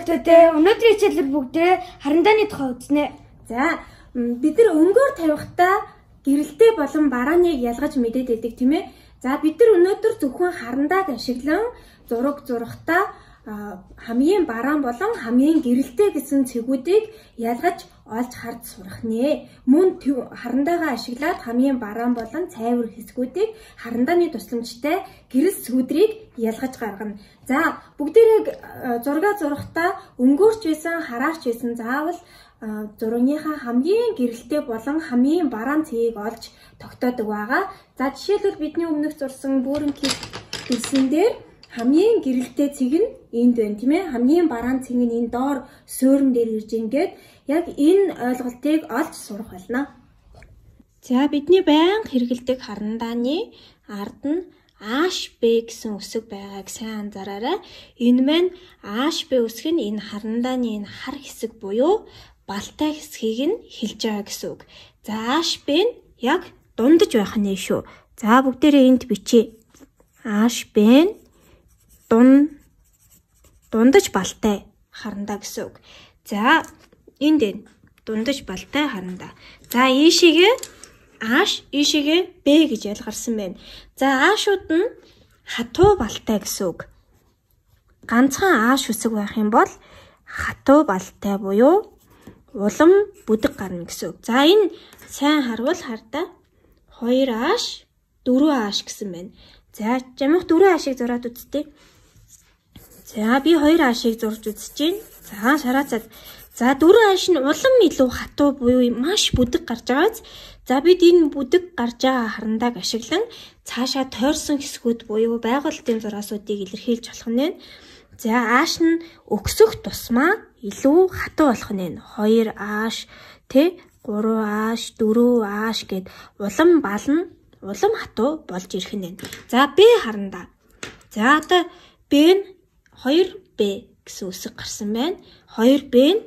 монголчуудаа өнөөдрийн хичээлээр бүгдээ харандааны тухай үзнэ. За бид нар өнгөөр тавихтаа гэрэлтэй болон барааныг ялгаж мэдээд байдаг тийм ээ. За бид нар өнөөдөр зөвхөн харандааг ашиглан зураг зурхтаа хамгийн бараан болон хамгийн гэрэлтэй гэсэн цэгүүдийг ялгаж олж харж сурах нэ. Мөн харандаагаа ашиглаад хамгийн бараан болон цайвар хэсгүүдийг харандааны тусламжтай гэрэл цэгүүдрийг ялгаж гаргана. За бүгдээрээ зураг зурхтаа өнгөөрч байсан, хараарч байсан заавал зурагийнхаа хамгийн гэрэлтэй болон хамгийн бараан цэгийг олж тогтоодог байгаа. За жишээлбэл бидний өмнөх зурсан бөөрөн хэлсэн дээр хамгийн гэрэлтэй цэг нь энд байна тийм ээ. Хамгийн бараан цэг нь энэ доор суурин дээр ирж ингээд яг энэ ойлголтыг олж сурах болно. За бидний байнга хэрэгэлдэг харандааны ард нь АШБ гэсэн үсэг байгааг сайн анзаараарай. Энэ маань АШБ үсэг нь энэ харандааны энэ хар хэсэг буюу балтай хэсгийг нь хэлж байгаа гэсэн үг. За АШБ нь яг дундаж байх нь шүү. За бүгдээрээ энд бичье. АШБ нь дундаж балтай харандаа гэсэн үг. За энд энэ дундаж балтай харандаа. За ийшээгээ АШ, ийшээгээ Б гэж ялгарсан байна. За АШууд нь хатуу балтай гэсэн үг. Ганцхан АШ үсэг байх юм бол хатуу балтай буюу улам бүдэг гарна гэсэн үг. За энэ сайн харвал хардаа 2АШ, 4АШ гэсэн байна. За жамх 4АШ-ыг зураад үзтээ. За би 2АШ-ыг зурж үзэж байна. За шарацаад. За 4АШ нь улам илүү хатуу буюу маш бүдэг гарч байгааз. За бид энэ бүдэг гарч байгаа харандааг ашиглан цаашаа тойрсон хэсгүүд буюу байгуулалтын зураасуудыг илэрхийлж болох нь. За АШ нь өксөх тусмаа илүү хатуу болох нь. 2АШ, 3АШ, 4АШ гэд улам бална, улам хатуу болж ирэх нь. За Б харандаа. За одоо Б нь 2Б гэсэн үсэг гарсан байна. 2Б нь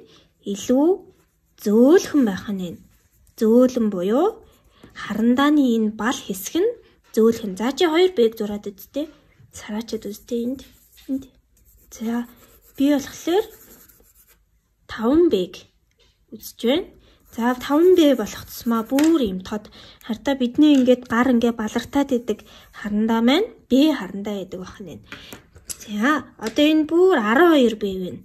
илүү зөөлхөн байх нь. Зөөлөн буюу харандааны энэ бал хэсэг нь зөөлхөн. За чи 2Б-г зураад үзтээ. Цараачаад үзтээ энд. За би болохоор 5Б-г үзэж байна. За 5Б болох тусмаа бүр юм тод. Хартаа бидний ингээд гар ингээд балартаад идэг харандаа маань Б харандаа гэдэг байх нь. За одоо энэ бүр 12Б байна.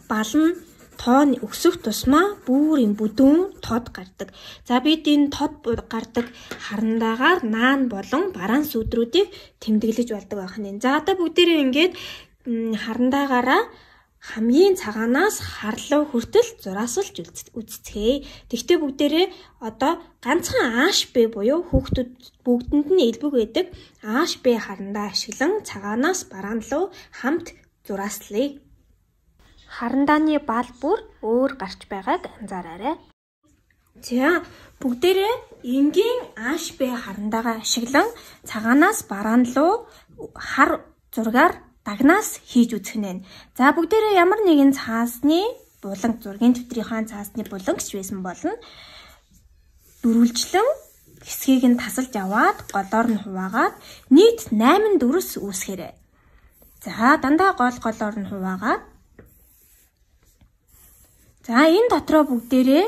Бал нь тоо өксөх тусмаа бүр юм бүдүүн тод гардаг. За бид энэ тод гардаг харандаагаар наан болон бараан сүдрүүдийг тэмдэглэж болдог байх нь. За одоо бүгдээрээ ингээд харандаагаараа хамгийн цагаанаас харлуу хүртэл зураасалж үзцгээе. Тэгвэл бүгдээрээ одоо ганцхан АШБ буюу хүүхдүүд бүгдэнд нь элбэг байдаг АШБ харандаа ашиглан цагаанаас бараан руу хамт зурааслая. Харандааны бал бүр өөр гарч байгааг анзаараарай. За бүгдээрээ энгийн АШБ харандаагаа ашиглан цагаанаас бараан руу хар зургаар дагнаас хийж үзэх нь. За бүгдээрээ ямар нэгэн цаасны буланг зургийн төвтрийнхаа цаасны буланг гэж байсан болно. Дөрвөлжлэн хэсгийг нь тасалж аваад голоор нь хуваагаад нийт 8 дүрс үүсгээрэй. За дандаа голоор нь хуваагаад за энэ дотроо бүгдээрээ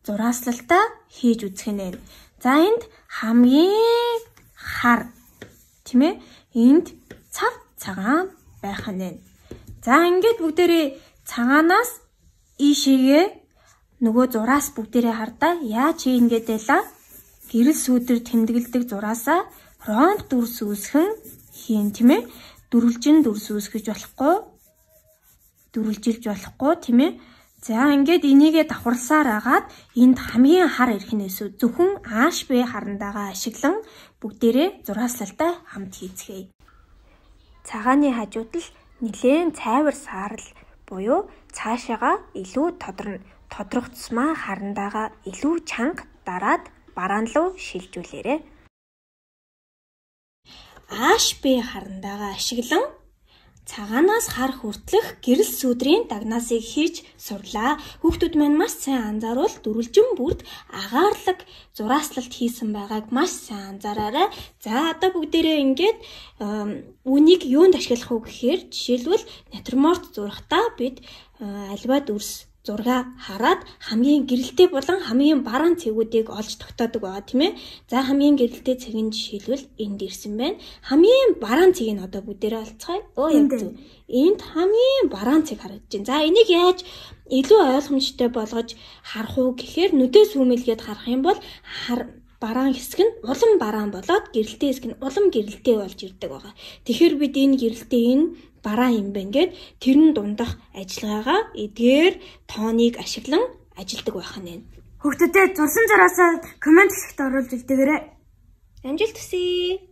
зурааслалтаа хийж үзэх нь. За энд хамгийн хар тийм ээ. Энд цав цагаан байх нь. За ингээд бүгдээрээ цагаанаас ийшээгээ нөгөө зураас бүгдээрээ хардаа яаж ингэж байлаа? Гэрэл сүудэр тэмдэглэдэг зураасаа ромб дүрс үүсгэн хийн тийм ээ. Дөрвөлжин дүрс үүсгэж болохгүй. Дөрвөлжилж болохгүй тийм ээ. За ингээд энийгээ давхарласаар агаад энд хамгийн хар ирэх нь зөвхөн АШБ харандаагаа ашиглан бүгдээрээ зурааслалтаа хамт хийцгээе. Цагааны хажууд л нэлээд цайвар саарл буюу цаашаага илүү тодорно. Тодрох тусмаа харандаагаа илүү чанга дараад бараан руу шилжүүлээрэй. АШБ харандаагаа ашиглан цагаанаас хар хүртэлх гэрэл сүдрийн дагнаасыг хийж сурлаа. Хүүхдүүд маань маш сайн анзааруул дөрвөлжин бүрд агаарлаг зурааслалт хийсэн байгааг маш сайн анзаараарай. За одоо бүгдээрээ ингээд үнийг юунд ашиглах вэ гэхээр жишээлбэл натюрморт зурхтаа бид альва дүрс зураг хараад хамгийн гэрэлтэй болон хамгийн бараан цэгүүдийг олж тогтоодог байгаа тийм ээ. За хамгийн гэрэлтэй цэгийн жишээлбэл энд ирсэн байна. Хамгийн бараан цэгийг нь одоо бүгдээрээ олцгаая. Яг зөв. Энд хамгийн бараан цэг харагдаж байна. За энийг яаж илүү ойлгомжтой болгож харах уу гэхээр нүдээ сүүмэлгээд харах юм бол бараан хэсэг нь улам бараан болоод гэрэлтэй хэсэг нь улам гэрэлтэй болж ирдэг байгаа. Тэгэхээр бид энэ гэрэлтэй энэ бараан юм байна гэд тэрэн дундах ажиллагаагаа эдгээр тооныг ашиглан ажилдаг байх нь. Хүүхдүүдээ зурсан зураасаа комент хэсэгт оруулж үлдээгээрэй. Амжилт хүсье.